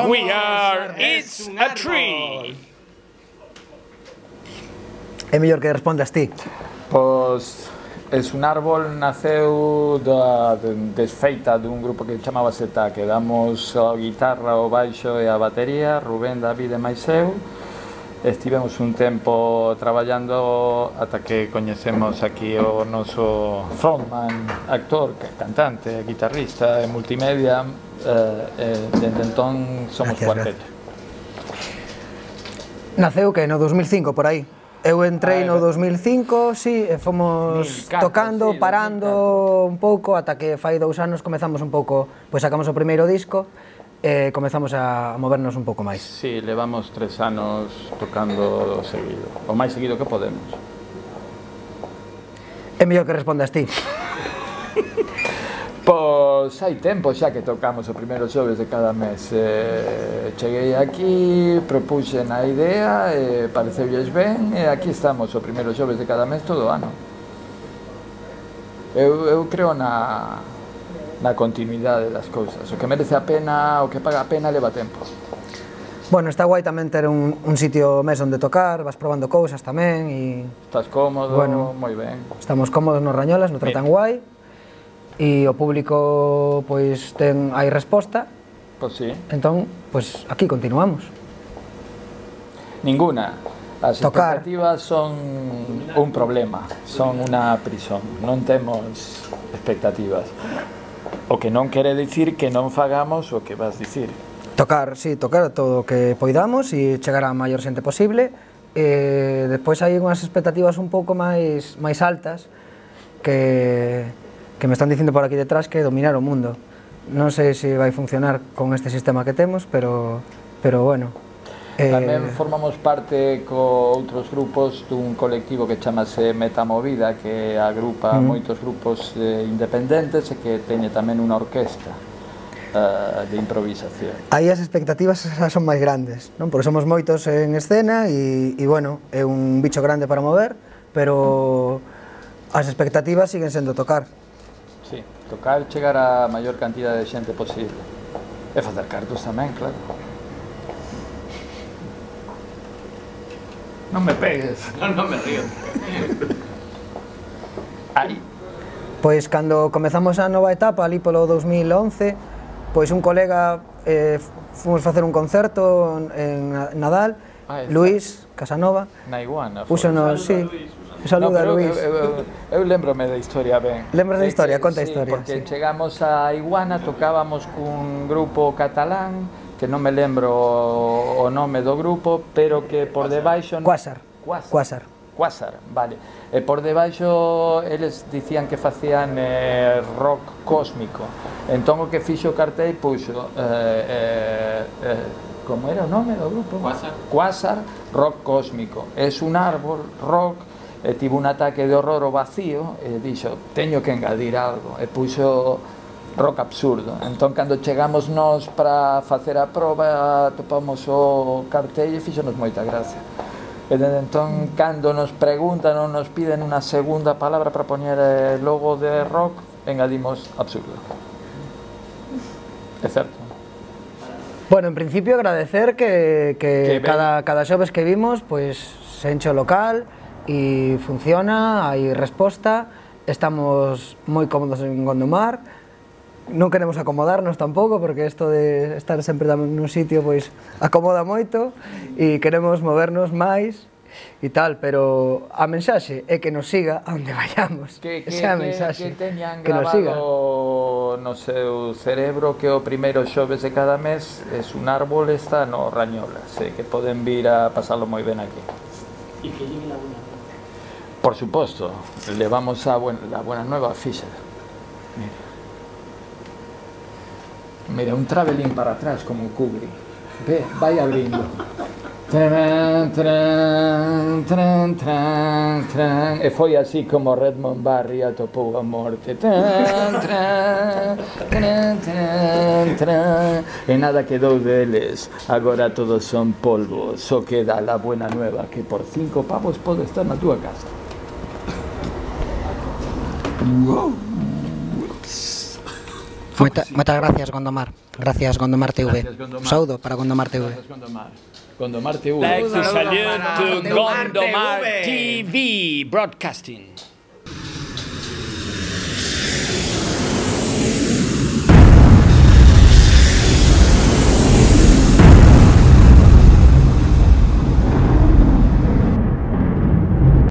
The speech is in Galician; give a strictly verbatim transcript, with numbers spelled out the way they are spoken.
We are It's a Tree. É mellor que respondas ti. Pois, Es un árbol naceu da desfeita dun grupo que chamaba Seta, que damos a guitarra, o baixo e a batería, Rubén, David e máis eu. Estivemos un tempo traballando ata que coñecemos aquí o noso frontman, actor, cantante, guitarrista e multimedia, e dende entón somos cuarteto. Naceu que no dos mil cinco, por aí. Eu entrei no dos mil cinco, si, e fomos tocando, parando un pouco, ata que fai dous anos comezamos un pouco, pois sacamos o primeiro disco e comezamos a movernos un pouco máis. Si, levamos tres anos tocando seguido, o máis seguido que podemos. É mellor que respondas ti. Pois hai tempo xa que tocamos o primeiro xoves de cada mes. eh, Cheguei aquí, propuxen a idea, e pareceulles ben, e aquí estamos o primeiro xoves de cada mes todo o ano. Eu, eu creo na, na continuidade das cousas. O que merece a pena, o que paga a pena, leva tempo. Bueno, está guai tamén ter un, un sitio mes onde tocar, vas probando cousas tamén e... Estás cómodo, bueno, moi ben. Estamos cómodos nos Rañolas, nos tratan guai. E o público, pois, ten hai resposta. Pois si. Entón, pois, aquí continuamos. Ninguna. As Tocar. expectativas son un problema, son unha prisión. Non temos expectativas. O que non quere dicir que non fagamos o que vas dicir. Tocar, si, sí, tocar todo o que poidamos e chegar a maior xente posible. E despois hai unhas expectativas un pouco máis máis altas que... que me están dicindo por aquí detrás que dominar o mundo. Non sei se vai funcionar con este sistema que temos, pero, pero bueno. Tamén eh... formamos parte co outros grupos dun colectivo que chamase Metamovida, que agrupa mm. moitos grupos eh, independentes e que teñe tamén unha orquesta uh, de improvisación. Aí as expectativas son máis grandes, non? Porque somos moitos en escena e, e bueno, é un bicho grande para mover, pero as expectativas siguen sendo tocar. Sí, tocar, chegar a maior cantidad de xente posible. E facer cartos tamén, claro. Non me pegues. Non, non me río. Aí. Pois cando comezamos a nova etapa, ali polo dos mil once, pois un colega eh, fomos facer un concerto en Nadal, ah, Luís Casanova, na Iguana. Púxonos, sí. Saluda, no, Luís. Eu, eu, eu lembrome da historia ben. Lembras da historia? Conta a sí, historia. Porque sí. chegamos a Iguana, tocábamos cun grupo catalán, que non me lembro o nome do grupo, pero que por debaixo... Quasar. Quasar. Quasar. Quasar, vale. E por debaixo eles dicían que facían eh, rock cósmico. Entón o que fixo o cartel puxo... Eh, eh, eh, como era o nome do grupo? Quasar. Quasar, rock cósmico. Es un árbol, rock... E tivo un ataque de horror ao vacío e dixo, teño que engadir algo, e puxo rock absurdo. Entón, cando chegamos nós para facer a proba, topamos o cartel e fixonos moita gracia. E desde entón, cando nos preguntan ou nos piden unha segunda palabra para poñer logo de rock, engadimos absurdo. É certo. Bueno, en principio agradecer que, que, que cada, cada xoves que vimos, pois, se enche o local, e funciona, hai resposta, estamos moi cómodos en Gondomar, non queremos acomodarnos tampouco, porque isto de estar sempre nun sitio pois acomoda moito, e queremos movernos máis e tal, pero a mensaxe é que nos siga a onde vayamos. Que, que, esa é a que, mensaxe, que teñan que nos siga. No seu cerebro que o primeiro xoves de cada mes es un árbol, está no Rañolas, eh, que poden vir a pasalo moi ben aquí. E que lleguen a buena. Por suposto, levamos a buen, la buena nueva a Fisher. Mira. Mira, un travelling para atrás como un Kubrick. Ve, vai abrindo. Tran, tran, tran, tran, tran. E foi así como Redmond Barry atopou a morte. Tran, tran, tran, tran, tran. E nada quedou deles. Agora todos son polvo. Só queda la buena nueva, que por cinco pavos pode estar na túa casa. Moitas gracias, Gondomar. Gracias, Gondomar T V. Gracias, Gondomar. Un saludo para Gondomar T V. Gracias, Gondomar. Gondomar T V. Like to Saludos salute para to Gondomar Gondomar T V. T V Broadcasting.